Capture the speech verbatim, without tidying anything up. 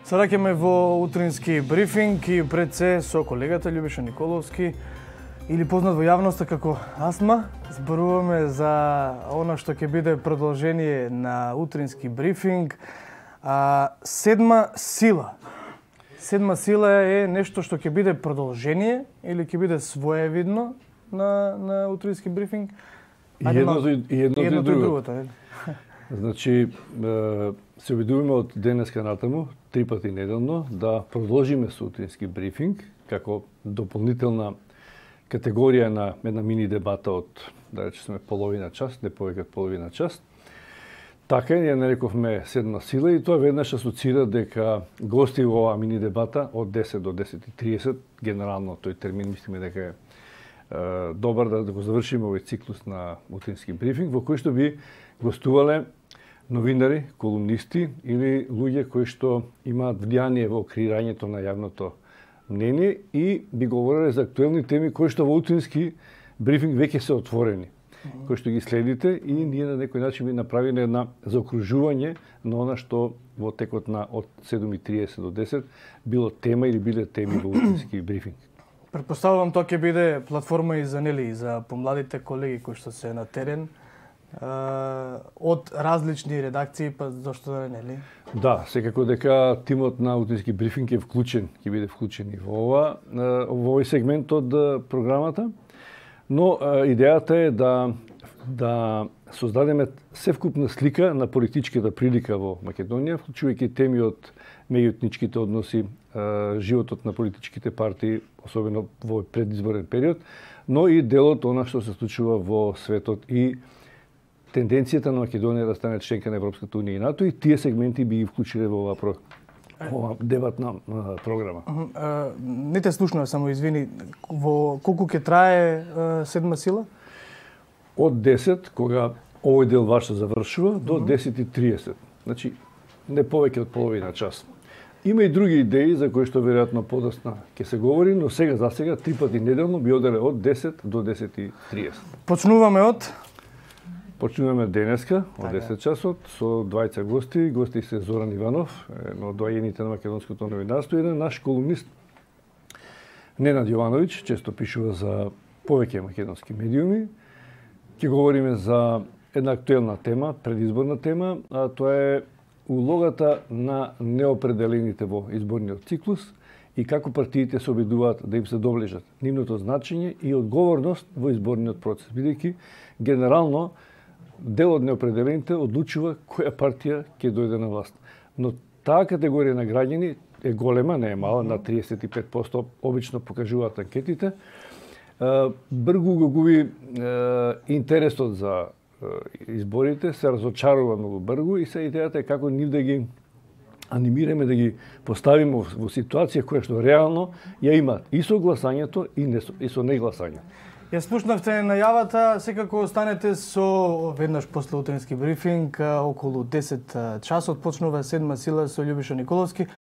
Се раќаме во утрински брифинг и пред се со колегата Љубиша Николовски, или познат во јавноста како Асма. Зборуваме за она што ќе биде продолжение на утрински брифинг. А, седма сила. Седма сила е нешто што ќе биде продолжение или ќе биде своевидно на, на утрински брифинг? И едното и, и, едното и, едното и другото. другото. Значи, се обидуваме од денеска натаму, три пати неделно, да продолжиме со утрински брифинг, како дополнителна категорија на една мини дебата од, да речеме, половина час, не повеќе од половина час. Така ја нарековме седма сила и тоа веднаш асоцира дека гости во оваа мини дебата од десет до десет и тридесет, генерално тој термин мислиме дека е добар да го завршиме овој циклус на утрински брифинг, во кој што би гостувале новинари, колумнисти или луѓе кои што имаат влијание во креирањето на јавното мнение и би говореле за актуелни теми кои што во утрински брифинг веќе се отворени, кои што ги следите и ние на некој начин би направиле една заокружување на она што во текот на од седум и тридесет до десет било тема или биле теми во утрински брифинг. Претпоставувам тоа ќе биде платформа и за нели и за помладите колеги кои што се на терен, од различни редакции, па зошто да не, нели? Да, секако дека тимот на утрински брифинг е вклучен, ќе биде вклучен и во ова, во овој сегмент од програмата, но идејата е да да создадеме севкупна слика на политичката прилика во Македонија, вклучувајќи теми од меѓуетничките односи, животот на политичките партии, особено во предизборен период, но и делот она што се случува во светот и тенденцијата на Македонија да стане членка на Европската унија и НАТО, и тие сегменти би ги вклучиле во оваа про... ова дебатна програма. Uh, uh, не те слушнав, само извини, во колку ќе трае uh, седма сила? Од десет, кога овој дел ваш се завршува, до десет и тридесет. Значи, не повеќе од половина час. Има и други идеи за кои што веројатно подоцна ќе се говори, но сега за сега три пати неделно би оделе од десет до десет и тридесет. Почнуваме од Почнуваме денеска од десет часот со двајца гости. Гости се Зоран Иванов, едно од доајените на македонското новинарство, и еден наш колумнист Ненад Јовановиќ, често пишува за повеќе македонски медиуми. Ќе говориме за една актуелна тема, предизборна тема, а тоа е улогата на неопределените во изборниот циклус и како партиите се обидуваат да им се доближат, нивното значење и одговорност во изборниот процес, бидејќи генерално дел од неопределените одлучува која партија ќе дојде на власт. Но таа категорија на граѓани е голема, не е мала, на триесет и пет проценти обично покажуваат анкетите. Бргу го губи интересот за изборите, се разочарува многу бргу и се идејата е како нив да ги анимираме, да ги поставиме во ситуација која што реално ја имаат и со гласањето и, не, и со негласањето. Ја слушнавте најавата, секако останете со веднаш после утрински брифинг, околу десет часот почнува седма сила со Љубиша Николовски.